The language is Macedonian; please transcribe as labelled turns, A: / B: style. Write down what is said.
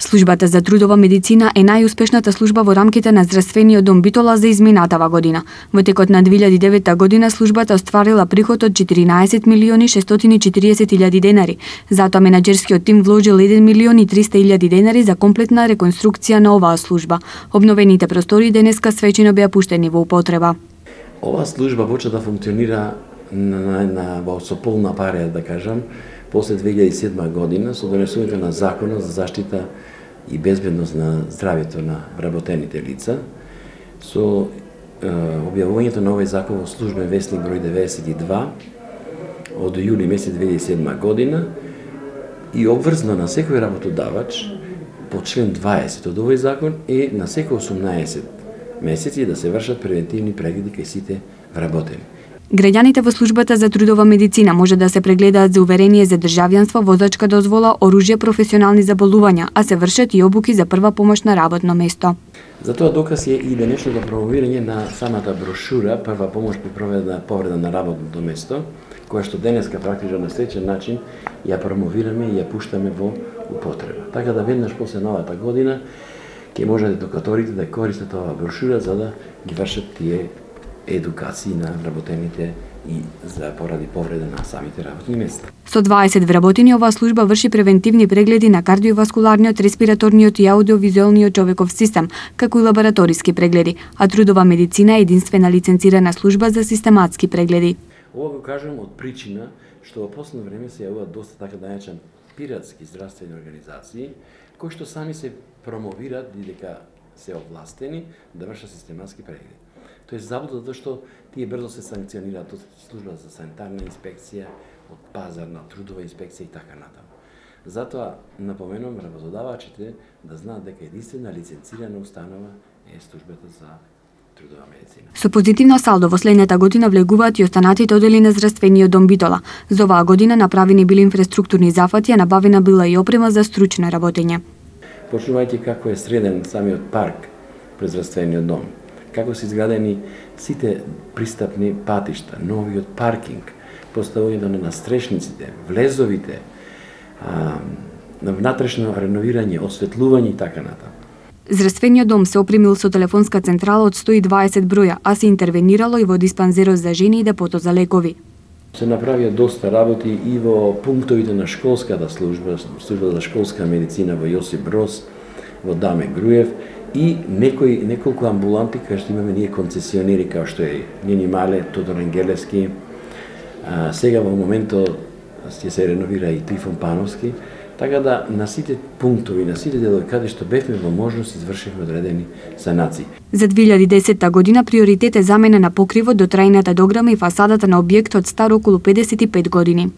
A: Службата за трудова медицина е најуспешната служба во рамките на здравствениот дом Битола за изминатава година. Во текот на 2009 година службата остварила приход од 14.640.000 денари. Затоа менаџерскиот тим вложил 1.300.000 денари за комплетна реконструкција на оваа служба. Обновените простори денеска свечено беа пуштени во употреба.
B: Оваа служба почна да функционира со полна пареја, да кажам, после 2007 година со донесувањето на Законот за заштита и безбедност на здравјето на вработените лица, со објавувањето на овој закон во службен весник број 92 од јули месец 2007 година и обврзано на секој работодавач по член 20 од овој закон е на секој 18 месеци да се вршат превентивни прегледи кај сите вработени.
A: Граѓаните во службата за трудова медицина може да се прегледаат за уверение за државјанство, возачка дозвола, оружје, професионални заболувања, а се вршат и обуки за прва помош на работно место.
B: Затоа доказ е и денешното промовирање на самата брошура Прва помош при повреда на работното место, која што денеска практично на сличен начин ја промовираме и ја пуштаме во употреба. Така да веднаш после новата година ќе можат едукаторите да користат оваа брошура за да ги вршат тие едукации на вработените и за поради повреда на самите работни места.
A: Со 20 вработени оваа служба врши превентивни прегледи на кардиоваскуларниот, респираторниот и аудиовизуелниот човеков систем, како и лабораториски прегледи, а трудова медицина е единствена лиценцирана служба за систематски прегледи.
B: Ова го кажам од причина што во последно време се јавуваат доста така да наречен пиратски здравствени организации, кои што сами се промовираат и дека се овластени да вршат систематски прегледи. Тоа е заблуда затоа што тие брзо се санкционираат од служба за санитарна инспекција, од пазарна, трудова инспекција и така натаму. Затоа напоменувам работодавачите да знаат дека единствена лиценцирана установа е службата за трудова медицина.
A: Со позитивно салдо во следната година влегуваат и останатите одели на здравствениот дом Битола. За оваа година направени били инфраструктурни зафати, а набавена била и опрема за стручно работење.
B: Почнувајќи како е среден самиот парк пред здравствениот дом, како се изградени сите пристапни патишта, новиот паркинг, поставувањето на настрешниците, влезовите, внатрешно реновирање, осветлување и така натаму.
A: Здравствениот дом се опремил со телефонска централа од 120 броја, а се интервенирало и во диспанзерот за жени и депото за лекови.
B: Се направија доста работи и во пунктовите на школската служба за школска медицина во Јосип Броз, во Даме Груев, и неколку амбуланти кај што имаме ние концесионери, како што е Нени Мале, Тодор Ангелевски, сега во моментот ќе се реновира и Трифон Пановски, така да на сите пунктови, на сите делови каде што бевме во можност извршивме одредени санации.
A: За 2010 година приоритет е замена на покривот до трајната дограма и фасадата на објектот стар околу 55 години.